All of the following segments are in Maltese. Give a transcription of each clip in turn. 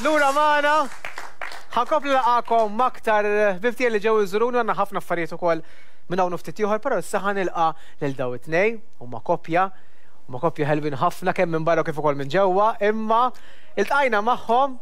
Lura magħna. Ħa nkompli nilqagħkom m'aktar ħbieb tiegħi li ġew iżuruni għandna ħafna affarijiet ukoll minn hawn u ftit ieħor, però issa ħa nilqa' lil dawn it-tnejn, huma koppja, huma koppja ħelwin ħafna kemm minn barra kif ukoll minn ġewwa, imma iltqajna magħhom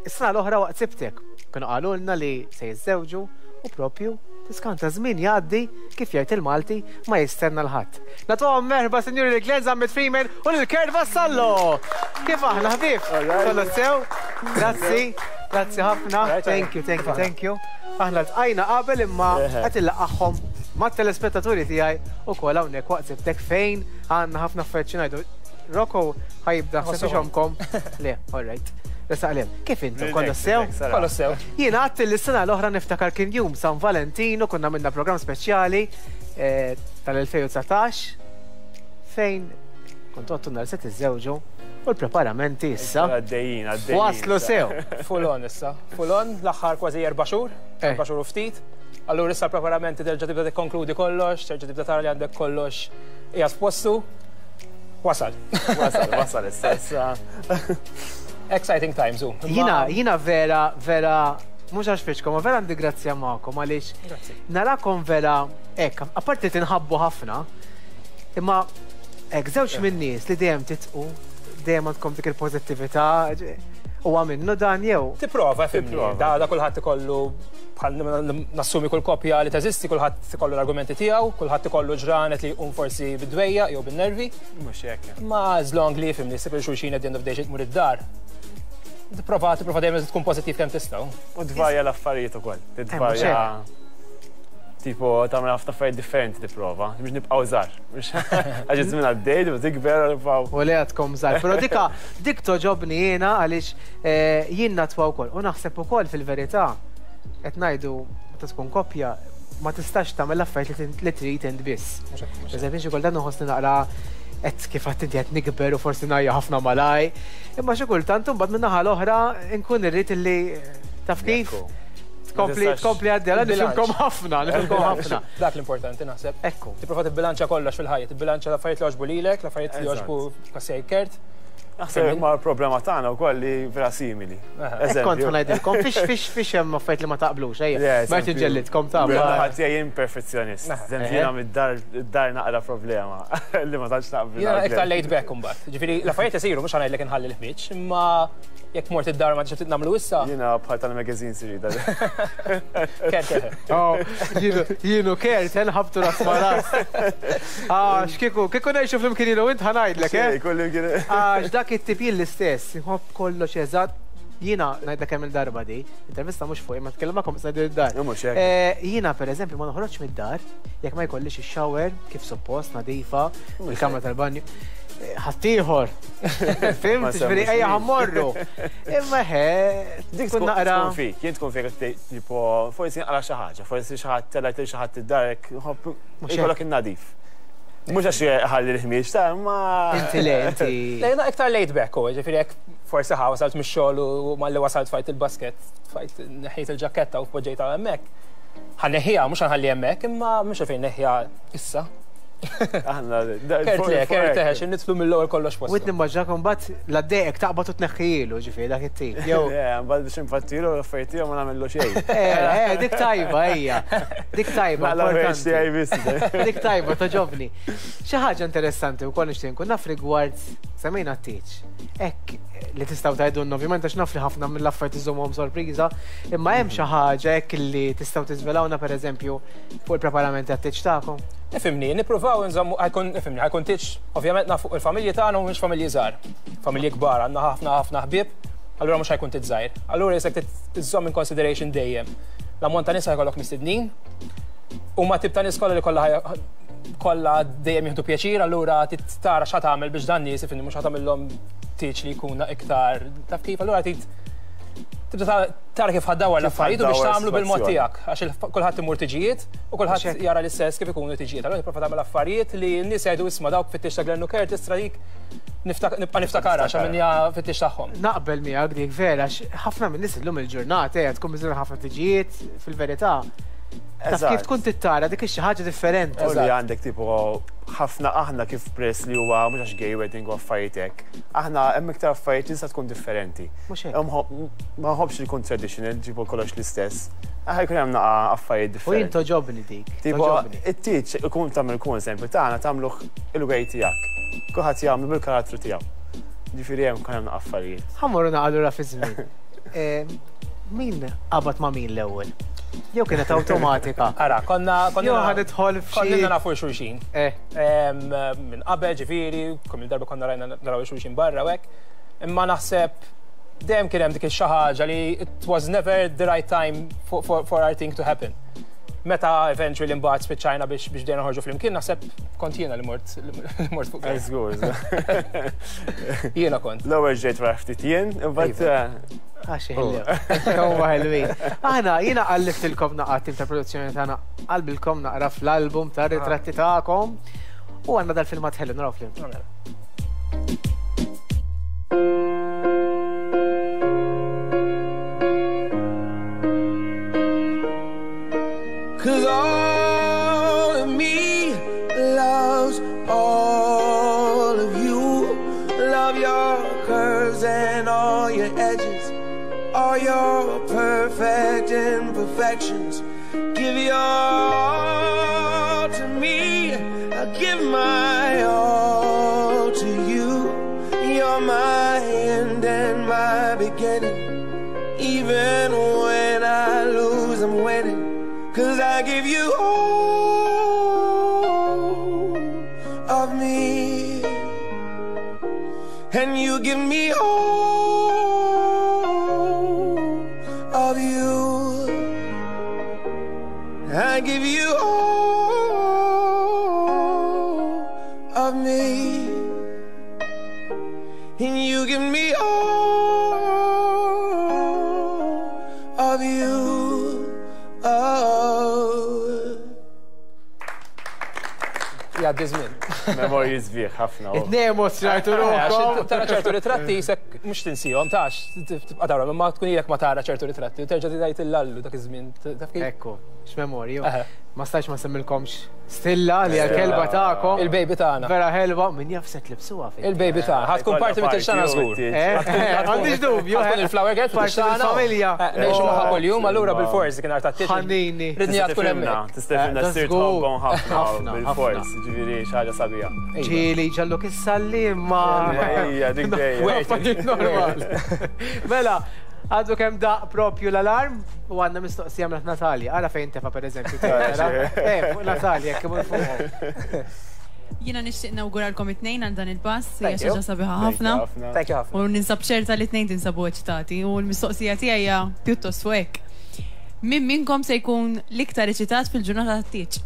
is-sena l-oħra waqt Sibtek. Kienu qalulna li se jiżżewġu u propju tiskanta żmien jgħaddi kif jgħid il-Malti ma jistenna 'l ħadd. Nagħtuhom merħba sinjuri lil Glenn Zammit Freeman u lil Kurt Vassallo! Kif aħna ħbieb? Kollox sew? Grazzi, grazzi ħafna. Thank you, thank you, thank you. Aħna ltqajna qabel imma qed illaqagħhom mat-telespettaturi tiegħi ukoll hawnhekk waqt sibtek fejn għandna ħafna affarijiet xi ngħidu. Rocco ħa jibda ħseb ixomkom. Le, all right. Resaq lem. Kif intom? Kollox sew? Kollox sew. Jiena għadt li s-sena l-oħra niftakar kien jum San Valentinu konna minna programm speċjali eh, tal-2019 fejn kontu għattunna li se tiżżewġu u l-preparamenti issa. Għaddejjin, għaddejjin. Waslu sew. Full on issa. Full on, l-aħħar kważi erba' xhur, eh. erba' xhur u ftit. Allura issa l-preparamenti terġa' tibda tikkonkludi kollox, terġa' tibda tara li għandek kollox qiegħed f'postu. Wasal. Wasal, wasal issa issa. Exciting times u. Jina, jina vera, vera, mhux għax fiċkom, ma vera għandi grazzja magħkom għaliex narakom vera hekk, apparti tinħabbu ħafna, imma hekk żewġ minn nies li dejjem titqu, dejjem għandkom dik il-pożittività, huwa minnu dan jew. Tipprova, fimni, da da kulħadd ikollu bħal nassumi kull koppja li teżisti, kulħadd ikollu l-argumenti tiegħu, kulħadd ikollu ġranet li jqum forsi bid-dwejja jew bin-nervi. Mhux hekk. Ma as long li fimni, ssib lil xulxin at the end of the day xi tmur id-dar. Tipprova, tipprova dejjem tkun pożittiv kemm tista'. U tvarja l-affarijiet ukoll. Tvarja. Tipo, tagħmel ħafna affarijiet differenti tipprova, biex nibqgħu żgħar. Għax iż-żmien għaddej, tibda tikber u nibqgħu. U le għadkom żgħar. Però dika dik toġobni jiena għaliex eh, jien natwa wkoll. U naħseb ukoll fil-verità qed ngħidu meta tkun koppja ma tistax tagħmel l-affarijiet li trid int biss. Eżempju, xi kultant nħossni naqra qed kif għedt inti qed nikber u forsi ngħajja ħafna malaj. Imma xi kultant imbagħad min-naħa l-oħra nkun irrid illi taf kif tkompli tkompli għaddejja nifhimkom ħafna, nifhimkom ħafna. Dak l-importanti naħseb. Ekku. Tipprova tibbilanċja kollox fil-ħajja, tibbilanċja l-affarijiet li jogħġbu lilek, l-affarijiet li jogħġbu Kasej Kert. Naħseb ma l-problema tagħna wkoll li vera simili. Hekk kont ngħidilkom, fiex fiex fiex hemm affarijiet li ma taqblux, ejja. Ma rridx inġellidkom ta' Ħadd jien perfezzjonist. Jiena mid-dar naqra problema li ma tantx naqbel. Jiena iktar laid back imbagħad. Ġifieri l-affarijiet isiru mhux ħa ngħidlek inħalli l-ħmieġ, imma jekk mort id-dar ma tix nagħmlu issa. Jiena bħal tal-magazines irrid. Kert eħe. Oh, jienu kert, nħabtu ras ma ras. Għax kieku, kieku ngħixu flimkien jien u int ħa ngħidlek, eh? Għax dak it-tip jien l-istess, inħobb kollox eżatt. Jiena ngħidlek kemm il-darba di, intervista mhux fuqi, ma tkellem magħkom issa ngħidu id-dar. Eh, jiena pereżempju ma noħroġx mid-dar jekk ma jkollix ix-shower kif suppost nadifa, il-kamra tal-banju. Eh, ħaddieħor. Fimt, ġifieri ejja ħammorru. Imma ħe, dik tkun naqra. Tkun fik, jien tkun fik tipo forsi nqra xi ħaġa, forsi xi ħadd telgħet xi ħadd id-darek, Ikollok in-nadif. Mhux għax ħalli l-ħmieġ ta' imma. Inti le, inti. Le, jiena iktar laid back u, ġifieri jekk forsi ħa wasalt mix-xogħol u malli wasalt tfajt il-basket, tfajt neħħejt il-ġakketta u poġġejtha hemmhekk. Ħa neħħiha, mhux ħa nħalli hemmhekk, imma mhux għalfejn neħħiha issa. Aħna. Kert le, kert eħe, xi nidħlu mill-ewwel kollox f'postu. U int nimmaġinak imbagħad la ddejqek taqbad u tneħħihielu, ġifieri dak it-tip. Jew. Le, mbagħad biex infattilu l-affarijiet tiegħu ma nagħmillu xejn. Eh, eh, dik tajba hija. Dik tajba. Dik tajba toġobni. Xi ħaġa interessanti wkoll nixtieq nkun naf rigward semmejna t-tieġ. Hekk li tistgħu tgħidulna ovvjament għax naf li ħafna mill-affarijiet iżommhom sorpriża, imma hemm xi ħaġa hekk li tistgħu tiżvelawna pereżempju fuq il-preparamenti għat-tieġ tagħkom? Ifhimni, nippruvaw inżommu ħajkun ifhimni, ħajkun tieġ ovvjament naf fuq il-familji tagħna mhumiex familji żgħar. Familji kbar, għandna ħafna ħafna ħbieb, allura mhux ħajkun tieġ żgħir. Allura jisek tiżżomm in consideration dejjem L-ammont ta' nies ħajkollok mistednin. Huma tip ta' nies kollha li kollha kollha dejjem jieħdu pjaċir, allura tara x'ħa tagħmel biex dan nies ifhimni mhux ħa tagħmilhom tieġ li jkun iktar taf kif, allura trid tibda tara kif ħaddawar l-affarijiet u biex tagħmlu bil-mod tiegħek għax kulħadd imur tiġijiet u kulħadd jara l-istess kif ikunu tiġijiet. Allura tipprova tagħmel affarijiet li n-nies jgħidu isma' dawk fit-tieġ ta' Glenn u Curtis tra dik nibqa' niftakarha għax għamilniha fit-tieġ tagħhom. Naqbel miegħek dik vera għax ħafna min-nies illum il-ġurnata qiegħed tkun miżura ħafna tiġijiet fil-verità. Taf kif tkun tittara dik xi ħaġa differenti. U li għandek tipo ħafna aħna kif press li huwa mhux għax gay wedding u affarijiet hekk. Aħna hemm iktar affarijiet li tista' tkun differenti. Mhux hekk. Ma nħobbx li jkun traditional, ġibu kollox l-istess. Aħna jkun hemm naqa' affarijiet differenti. U jien toġobni dik. Tipo, it-tieġ ikun tagħmel ikun eżempju tagħna tagħmluh il-way tiegħek. Kulħadd jagħmlu bil-karattru tiegħu. Ġifieri hemm kun hemm affarijiet. Ħa mmorru naqa' lura fi żmien. Min qabad ma' min l-ewwel? Jew kienet awtomatika? Ara, konna konna Jew ħa nidħol f'xi. Konna nafu xulxin. Minn qabel ġifieri, kemm il-darba konna rajna naraw xulxin barra u hekk. Imma naħseb dejjem kien hemm dik xi ħaġa li it was never the right time for, for, for our thing to happen. Meta eventually mbagħad spiċċajna biex biex bdejna noħorġu flimkien, naħseb kont jiena li mort li mort fuq. Żgur. Jiena kont. L-ewwel ġejt wara ftit jien, imbagħad Għax ħellu. Huwa ħelwin. Aħna jiena qallibtilkom naqra tim ta' produzzjoni tagħna qalbilkom naqra fl-album ta' ritratti tagħkom u għandna dal-filmat ħelu naraw flimkien. Cause all of me loves all of you. Love your curves and all your edges, all your perfect imperfections. Give your all to me. I give my all to you. You're my end and my beginning. Even when I lose, I'm winning. Cause I give you all of me. And you give me all of you. I give you all of me. And you give me all of you. Oh. Jgħaddi żmien. Memorji sbieħ ħafna. It-tnejn emozjonajtu ruħkom. Tara ċertu ritratti jisek mhux tinsihom tax tibqa' tara, imma tkun ilek ma tara ċertu ritratti u terġa' tgħid il-lallu dak iż-żmien. Taf kif? Ekku, x'memorju. Ma stajx ma semmilkomx Stilla li għal-kelba tagħkom. Il-baby tagħna. Vera ħelwa, min jaf se tlibsuha fi. Il-baby tagħna. Ħa tkun parti mit-tixtana żgur. Għandix dubju. Ħa tkun il-flower girl Parti fit-tixtana. mill-familja. Ngħixu magħha kuljum, allura bil-fors kien art tat-tieġ. Ħanini. Ridni tkun hemmhekk. Tista' tifhimna Da ssir żgur. tħobbhom ħafna Ħafna, bil-fors, ġifieri xi ħaġa sabiħa. Ġieli ġalluk issalli imma. Ejja, dik dejjem. Affarijiet normali. Mela, għadu kemm daq propju l-alarm u għandna mistoqsija minn Natalia. Ara fejn tefa per eżempju. Eh, fuq Natalia, kemm fuqhom. Jiena nixtieq nawguralkom it-tnejn għal dan il-pass, hija Thank xi you. ħaġa sabiħa ħafna. Thank you ħafna. U ninsab ċerta li t-tnejn tinsabu eċitati u l-mistoqsija tiegħi hija pjuttost fuq hekk. Min minnkom se jkun l-iktar eċitat fil-ġurnata tat-tieġ?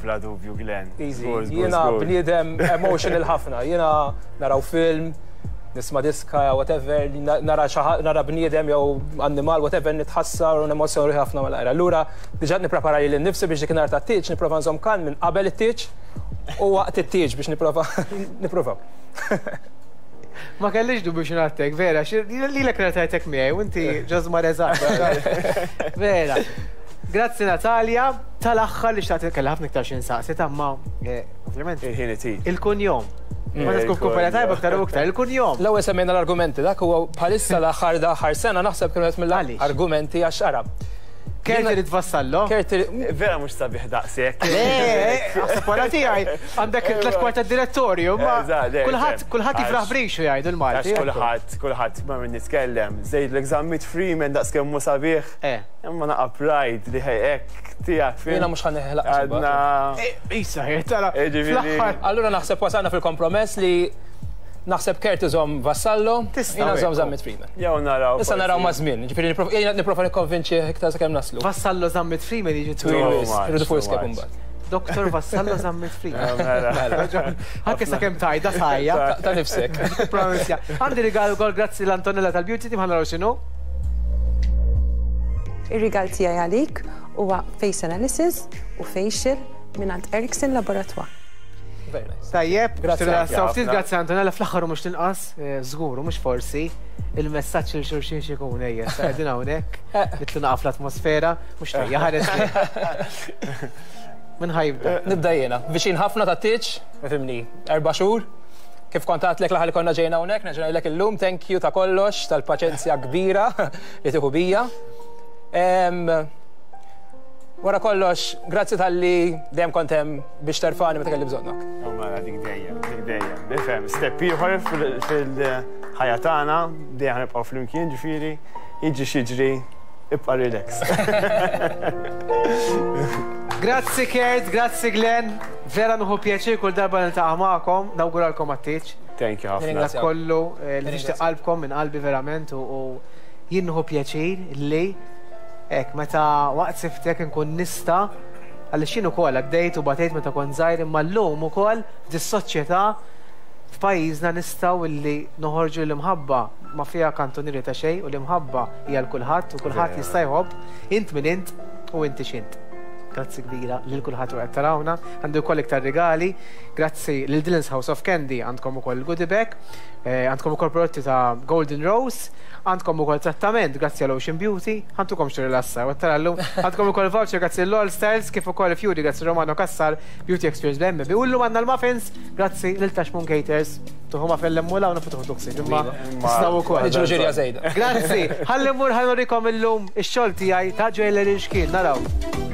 Bla dubju, Glenn. Easy. Żgur, żgur, Jiena żgur. bniedem emotional ħafna. Jiena naraw film, nisma' diska, whatever, nara xi ħa- nara bniedem jew annimal, whatever, nitħassar u nemozjoni ħafna mal-ajra. Allura, diġà nipprepara lili nnifsi biex dik tat-tieġ nipprova nżomm kalm minn qabel it-tieġ u waqt it-tieġ biex nipprova nipprova. Ma kellix dubju xi ngħattek, vera, li l ratajtek miegħi u inti ġożmar eżatt. Vera. Grazzi Natalia, tal-aħħar li xtaqt kellha ħafna iktar xi nsaqsi ta' ma ovvjament Il-ħin itir. il-kunjom. Ma tkun kumpanija tajba aktar u iktar, il-kunjom. L-ewwel semmejna l-argumenti, dak huwa bħalissa l-aħħar l-aħħar sena naħseb kienu qed Għaliex? mill-argumenti għax ara. Kert irid Vassallo. Kert Vera mhux sabiħ daqshekk. Le, għasab wara tiegħi għandek tlet kwart direttorju, ma Eżatt, le, kulħadd ġem. kulħadd jifraħ Għax- brixu jgħidu l-Malti. Għax kulħadd, kulħadd ma minn nitkellem. Żejd l-Zammit Freeman daqs kemm mhu sabiħ. Imma naqa pride li hekk tiegħek fim. Jiena mhux ħa neħlaq Għadna. Isa, tara. Ġifieri- fl-aħħar. Allura naħseb wasalna fil-kompromess li naħseb Kert iżomm Vassallo, Tista' jiena nżomm hekk. Zammit Freeman. Jew naraw. Issa naraw ma' żmien, ġifieri jiena nipprova nikkonvinċi iktar sakemm naslu. Vassallo Zammit Freeman jiġi Twil twil. wis, much, irridu too full skep much. imbagħad. Dr. Vassallo Zammit Freeman. Mela. Anke sakemm tajda sajja. Ta' nifsek. Pronunzja. Għandi rigal ukoll grazzi l-Antonella tal-Beauty Team ħa naraw x'inhu. Ir-rigal tiegħi għalik huwa face analysis u facial mingħand Erickson Laboratoire. Very nice. Tajjeb, Grazzi ftit grazzi Antonella fl-aħħar u mhux tinqas, eh, żgur u mhux forsi, il-messaġġ il xulxin xikun ejja, sa qegħdin hawnhekk, eh. nitlu naqaf l-atmosfera, mhux tejja ħares. Min ħajibda? Eh, nibda jiena. Viċin ħafna ta' tiċ, fimni, erba' xhur. Kif kont għatlek l-aħħar li konna ġejna hawnhekk, nerġa' ngħidlek illum thank you ta' kollox, tal-paċenzja kbira li tieħu bija. Wara kollox, grazzi talli dejjem kont hemm biex terfani meta kelli bżonnok. U mela dik dejjem, dik dejjem. Nifhem, step ieħor fil-ħajja tagħna, dejjem nibqgħu flimkien ġifieri, jiġri x'jiġri, ibqa' relax. Grazzi Kurt, grazzi Glenn, vera nieħu pjaċir kull darba niltaqa' magħkom, nawguralkom għat-tieġ. Thank you ħafna. Dak kollu eh, li tixtieq qalbkom minn qalbi verament u jien nieħu pjaċir li Hekk, meta waqt siftek inkun nista' għaliex jien ukoll għaddejt u batejt meta kont żgħir imma llum ukoll f'dis-soċjetà f'pajjiżna nistgħu illi noħorġu li l-imħabba ma fiha kantunieri ta' xejn u l-imħabba hija għal kulħadd u kulħadd jista' jħobb int min int u inti x'int. Grazzi kbira lil kulħadd u qed tarawna. Għandi wkoll iktar rigali. Grazzi lil Dylan's House of Candy għandkom ukoll il-goodie bag. Eh, għandkom ukoll prodotti ta' Golden Rose. Għandkom ukoll trattament grazzi għal Ocean Beauty, ħantukom xi rilassa, u tara llum. Għandkom ukoll voucher grazzi l-All Styles kif ukoll Fury grazzi Romano Cassar, Beauty Experience BMB. U llum għandna l-muffins grazzi lil Tashmoon Caters. Tuħu ma fell emmula u nafu tuħdu ħsieb, imma tistgħu ukoll. Niġru ġirja żejda. Grazzi, ħalli mmur ħa nurikom illum ix-xogħol tiegħi ta' jewellery xkien, naraw.